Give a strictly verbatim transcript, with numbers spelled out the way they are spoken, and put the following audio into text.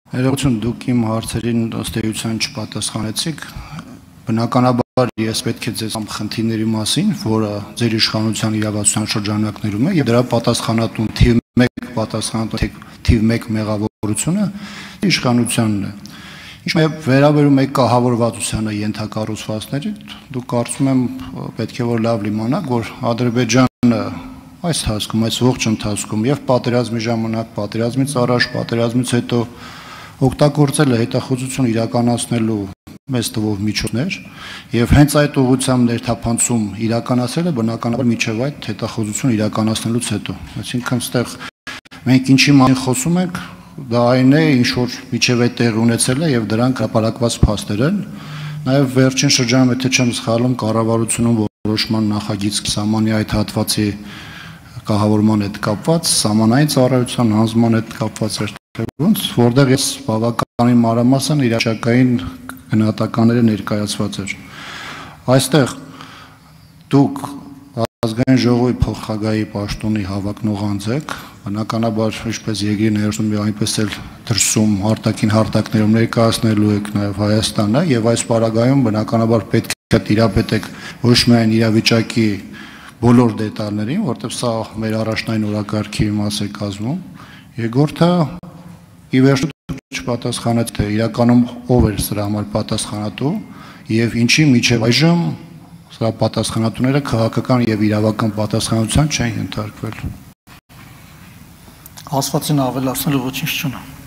Ներողություն, դուք իմ հարցերին ըստ էության չպատասխանեցիք, բնականաբար ես պետք է ձեզ խնդիրների մասին, որը ձեր իշխանության իրավասության շրջանակներում է, եւ դրա պատասխանատուն թիվ մեկ պատասխանատուն թիվ մեկ մեղավորությունը իշխանությանն է։ Ինչ վերաբերում է կահավորվածությանը ենթակառուցվածքների, դուք կարծում եմ պետք է որ լավ լիմանաք, որ Ադրբեջանը այս հասկում, այս ողջ ընթացքում եւ պատերազմի ժամանակ, պատերազմից առաջ, պատերազմից հետո օգտագործել է հետախուզություն իրականացնելու մեծ թվով միջոցներ եւ հենց այդ ուղղությամբ ներթափանցում իրականացել է բնականաբար միջև այդ հետախուզություն իրականացնելուց հետո։ Այսինքն այստեղ մենք ինչի մասին խոսում ենք, դա այն է, ինչ որ միջև այդ տեղի ունեցել է եւ դրանք հրապարակված փաստեր են։ Նաեւ վերջին շրջանում, եթե չեմ սխալվում, կառավարությունում որոշման նախագիծ սահմանի այդ հատվածի կահավորման հետ կապված, սահմանային ծառայության հանձնման հետ կապված էր, որտեղ ես բավականին մանրամասն իրավիճակային գնահատականները ներկայացված էր։ Այստեղ դուք ազգային ժողովի փոխխաղայի պաշտոնի հավակնող անձ եք, բնականաբար ինչպես երկրի ներսում եւ այնպես էլ դրսում արտաքին հարթակներում ներկայացնելու եք նաեւ Հայաստանը եւ այս պարագայում բնականաբար պետք է տիրապետեք ոչ միայն իրավիճակի բոլոր դետալներին, որտեղ սա մեր առաջնային օրակարգի մաս է կազմում։ Երկրորդը ի վերջո չպատասխանեց, թե իրականում ով էր սրա համար պատասխանատու եւ ինչի միջև այժմ սրա պատասխանատուները քաղաքական եւ իրավական պատասխանատվության չեն ենթարկվել։ Ասվածին ավելացնելու ոչինչ չունեմ։